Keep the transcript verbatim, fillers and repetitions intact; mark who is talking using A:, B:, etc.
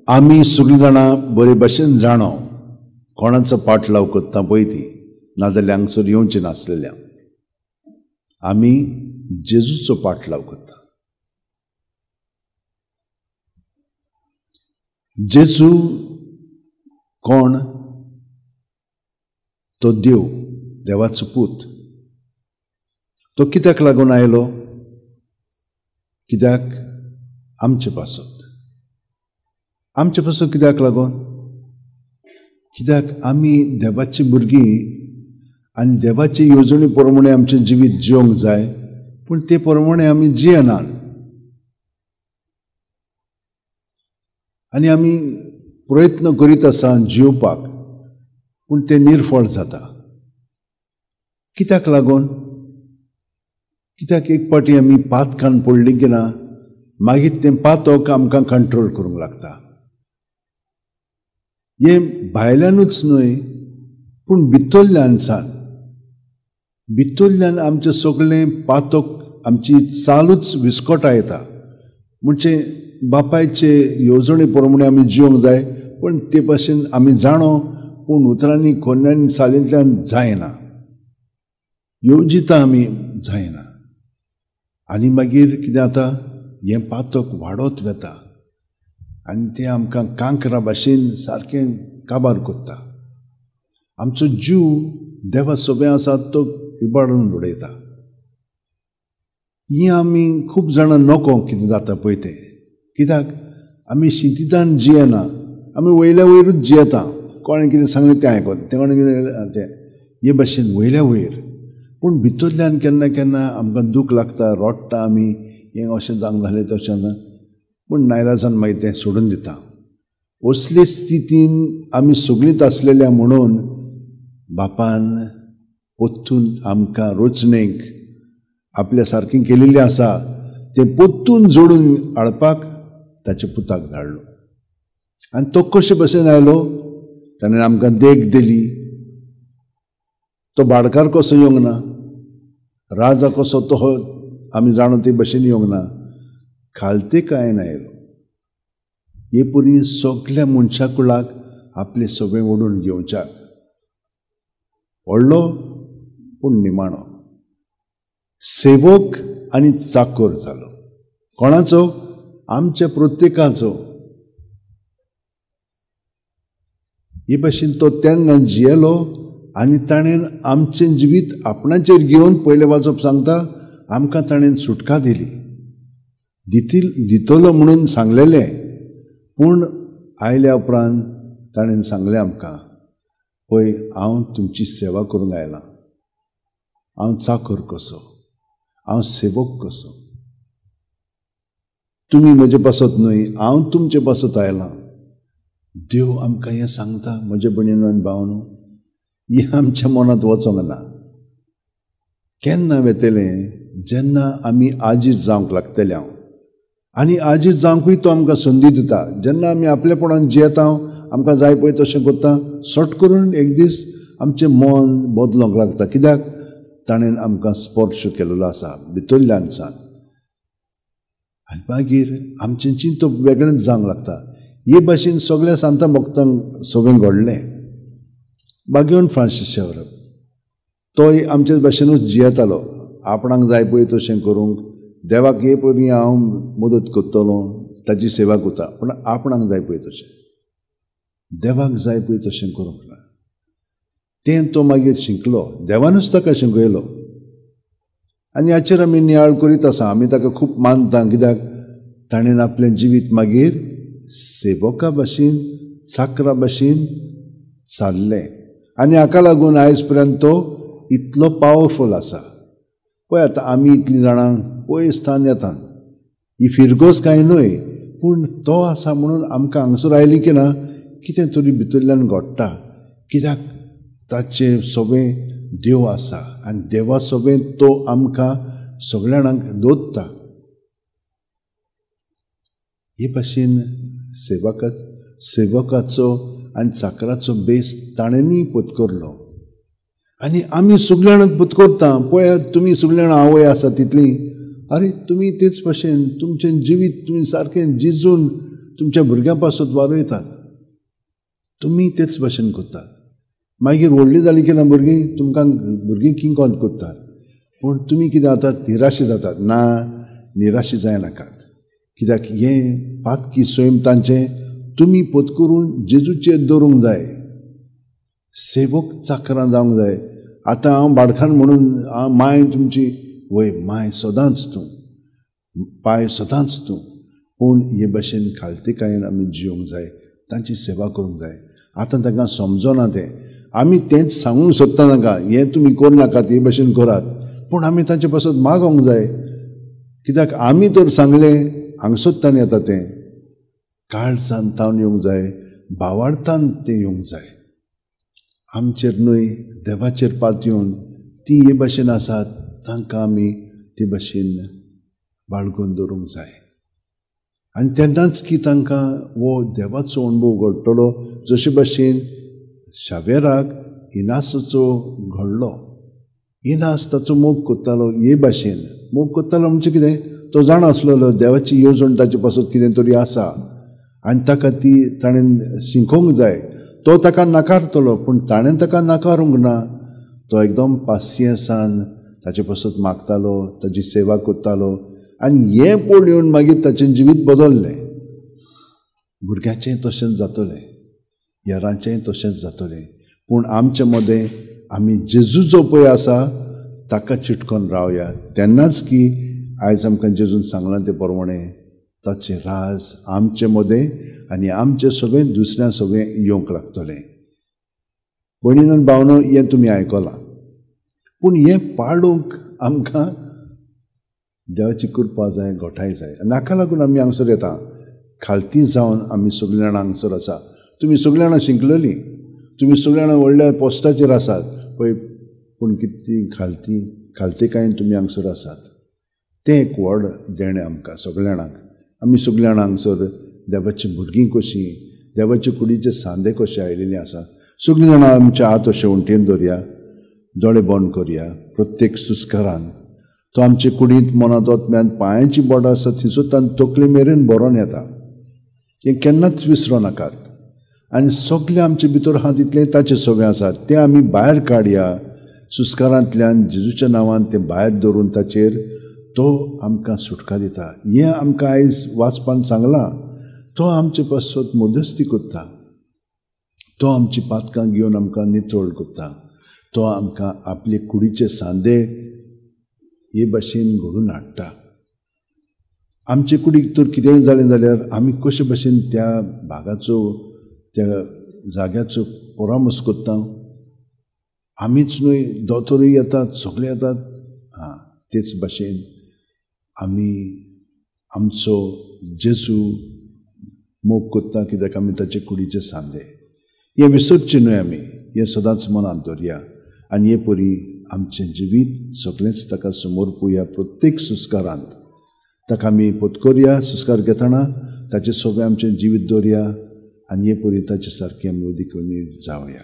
A: आमी सगळीं जाणां बरे भाशेन जाणो कोणाचो पाटलाव करता पळय ती, नाजाल्यार हांगसर येवचें नासलेल्या. आमी जेजूचो पाटलाव करता. जेजू कोण? तो देव, देवाचो पूत. तो कित्याक लागून आयलो? कित्याक? आमचे पासत. आमचे पासत कित्याक लागून? कित्याक आमी देवाची भुरगीं आनी देवाची येवजणे प्रमाणे आमचें जिवीत जिवंक जाय, पूण ते प्रमाणे आमी जियेनात आनी आमी प्रयत्न करीत आसा जिवपाक, पूण ते निर्फळ जाता. कित्याक लागून? कित्याक एक पाटी आमी पातकान पडली की ना, मागीर तें पातक आमकां कंट्रोल करूंक लागता. हें भायल्यानूच न्हय पूण भितरल्यान सान, भितरल्यान आमचें सगळें पातक आमची चालूच विस्कटा येता. म्हणजे बापायचे येवजणे प्रमाणे आमी जिवंक जाय, पूण ते भाशेन आमी जाणो, पूण उतरांनी कोन्यांनी चालींतल्यान जायना, येवजिता आमी जायना. आनी मागीर कितें जाता, हें पातक वाडत वता आनी तें आमकां कांकरा भाशेन सारकें काबार करता. आमचो जीव देवा सोबे आसा तो इबाडून उडयता. ही आमी खूब जाणां नको कितें जाता पळय तें, कित्याक आमी शिंतितान जियेना, आमी वयल्या वयरूच जियेता. कोणें कितें सांगलें तें आयकून, तें कोणें कितें तें, हे भाशेन वयल्या वयर. पूण भितरल्यान केन्ना केन्ना आमकां दूख लागता, रोडटा आमी, हें अशें जावंक जालें तशें ना, पूण नायलाजान मागीर तें सोडून दिता. असले स्थितीन आमी सगळींच आसलेल्या म्हणून बापान पोत्तून आमकां रोचणेक आपल्या सारकें केलेलें आसा तें पोत्तून जोडून हाडपाक ताच्या पुताक धाडलो. आनी तो कशे भशेन आयलो? ताणें आमकां देख दिली. तो भाडकार कसो येवंक ना, राजा कसो तो आमी जाणो ते भशेन येवंक ना, खालते कांय आयलो. हे परी सगल्या मनशा कुळाक आपले सगळें ओडून घेवच्याक व्हडलो पूण निमाणो सेवक आनी चाकोर जालो. कोणाचो? आमच्या प्रत्येकाचो. हे भाशेन तो तेन्ना जियेलो आनी ताणें आमचें जिवीत आपणाचेर घेवन पयलें वाजप सांगता आमकां ताणें सुटका दिली. दितील दितलो म्हणून सांगलेलें, पूण आयल्या उपरांत ताणें सांगलें आमकां, पळय हांव तुमची सेवा करूंक आयलां, हांव चाकर कसो, हांव सेवक कसो, तुमी म्हजे पासत न्हय, हांव तुमचे पासत आयलां. देव आमकां हें सांगता. म्हजे भयणीनो आनी भावनो, हें आमच्या मनांत वचोंक ना. केन्ना वेतलें? जेन्ना आमी आजीर जावंक लागतले. हांव आनी आजीर जावंकूय तो आमकां संदी दिता. जेन्ना आमी आपलेपणान जियेता, आमकां जाय पळय तशें करता, सट करून एक दीस आमचें मन बदलोंक लागता. कित्याक? ताणें आमकां स्पर्श केल्लो आसा भितरल्यान सान. आनी मागीर आमचें चिंतप वेगळेंच जावंक लागता. हे भाशेन सगळ्या सांता भक्तांक सगळें घडलें. बागेवन फ्रांसीस शेवरप तोय आमचे भाशेनूच जियेतालो. आपणाक जाय पळय तशें करूंक, देवाक हे पयलीं हांव मदत करतलो, ताची सेवा करता, पूण आपणाक जाय पळय तशें, देवाक जाय पळय तशें करूंक ना. तें तो मागीर शिकलो, देवानूच ताका शिकयलो. आनी हाचेर आमी नियाळ करीत आसा. आमी ताका खूब मानता, कित्याक ताणें आपलें जिवीत मागीर सेवका भाशेन, चाकरा भाशेन चाललें. आनी हाका लागून आयज पर्यंत तो इतलो पावरफूल आसा. पळय आतां आमी इतलीं जाणां पयस स्थान येता, ही फिरगोज कांय न्हय, पूण तो आसा म्हणून आमकां हांगसर आयली की ना कितें तरी भितरल्यान घडटा. कित्याक ताचें सगळें देव आसा आनी देवा सगळें तो आमकां सगळ्या जाणांक दवरता. हे भाशेन सेवका सेवकाचो आनी चाकराचो बेस ताणेंय पत्करलो आनी आमी सगळ्या जाणांक पत्करता. पळयात तुमी सगळ्या जाणां आवय आसा तितली, अरे तुमी तेच भाशेन तुमचें जिवीत तुमी सारकें जिजून तुमच्या भुरग्यां पासत वारयतात. तुमी तेच भाशेन करतात. मागीर व्हडलीं जालीं की ना भुरगीं तुमकां भुरगीं किंकोत करतात. पूण तुमी कितें जातात, निराशी जातात. ना, निराशी जायनाकात, कित्याक हें पातकी सैम तांचें तुमी पोत करून जेजूचेर दवरूंक जाय. सेवक चाकरां जावंक जाय. आतां हांव बाडखान म्हणून हांव माय तुमची, वय माय सदांच तूं, पाय सदांच तूं, पूण हे भाशेन खालतीकायेन आमी जिवंक जाय, तांची सेवा करूंक जाय. आतां तांकां समजना तें, आमी तेंच सांगूंक सोदता तांकां, हें तुमी करूं नाकात, हे भाशेन करात, पूण आमी तांचे पासत मागोंक जाय. कित्याक आमी तर सांगलें हांगसोत्तान येता तें, काळजान तावन येवंक जाय, भावार्थान तें येवंक जाय. आमचेर न्हय देवाचेर पात येवन ती हे भाशेन आसात तांकां आमी ते भाशेन बाळगून दवरूंक जाय. आनी तेन्नाच की तांकां हो देवाचो अणभव घडटलो, जशे भाशेन शावेराक इनासाचो घडलो. इनास ताचो मोग करतालो, हे भाशेन मोग करतालो म्हणजे कितें, तो जाणा आसलेलो देवाची येवजण ताचे पासत कितें तरी आसा आनी ताका ती ताणें शिकोवंक जाय. तो ताका नाकारतलो, पूण ताणें ताका नाकारूंक ना. तो एकदम पासियेंसान ताचे पासत मागतालो, ताची सेवा करतालो आनी हें पळोवन मागीर ताचें जिवीत बदल्लें. भुरग्यांचें तशेंच जातलें, हेरांचेंय तशेंच जातलें, पूण आमचे मदें आमी जेजू जो पळय आसा ताका चिटकोन रावया. तेन्नाच की आयज आमकां जेजून सांगलां तें प्रमाणें ताचें राज आमचे मदें आनी आमचें सगळें दुसऱ्या सगळें येवंक लागतलें. भयणीन भावनो, हें तुमी आयकलां, पूण हें पाळूंक आमकां देवाची कृपा जाय, गोठाय जाय. नाका लागून आमी हांगसर येता, खालती जावन आमी सगळीं जाणां हांगसर आसा. तुमी सगळीं जाणां शिकलेलीं, तुमी सगळीं जाणां व्हडल्या पोस्टाचेर आसात पळय, पूण कितली खालती खालतीकायेन तुमी हांगसर आसात. तें एक व्हड देणें आमकां सगळ्या जाणांक. आमी सगळीं जाणां हांगसर देवाची भुरगीं कशीं, देवाचे कुडीचे सांदे कशे आयिल्लीं आसा. सगळीं जाणां आमच्या हात अशे वण्टीन दवरया, दोळे बंद करया. प्रत्येक सुस्कारान तो आमचे कुडींत, मनांत, आत्म्यांत, पांयांची बोटां आसा थंयसर तांचे तकले मेरेन भरोन येता. हें केन्नाच विसरूं नाकात. आनी सगळें आमचे भितर आहा तितलें ताचें सगळें आसा, तें आमी भायर काडया. सुस्कारांतल्यान जेजूच्या नांवान तें भायर दवरून ताचेर तो आमकां सुटका दिता. हें आमकां आयज वाचपान सांगलां. तो आमचे पासत मध्यस्ती करता, तो आमची पातकां घेवन आमकां नितळ करता, तो आमकां आपले कुडीचे सांदे हे भाशेन घडून हाडटा. आमचे कुडीक तर कितेंय जालें जाल्यार आमी कशे भाशेन त्या भागाचो, त्या जाग्याचो परामर्श करता. आमीच न्हय, दोतोरूय येतात, सगळे येतात. आं, तेच भाशेन आमी आमचो जेजू मोग करता, कित्याक आमी ताचे कुडीचे सांदे. हें विसरचें न्हय आमी, हें सदांच मनांत दवरया आनी हे परी आमचें जिवीत सगळेंच ताका समर्पुया. प्रत्येक संस्कारांत ताका आमी पोतकोरया. संस्कार घेतना ताचें सगळें आमचें जिवीत दवरया आनी हे परी ताचे सारकें आमी उदीक जावया.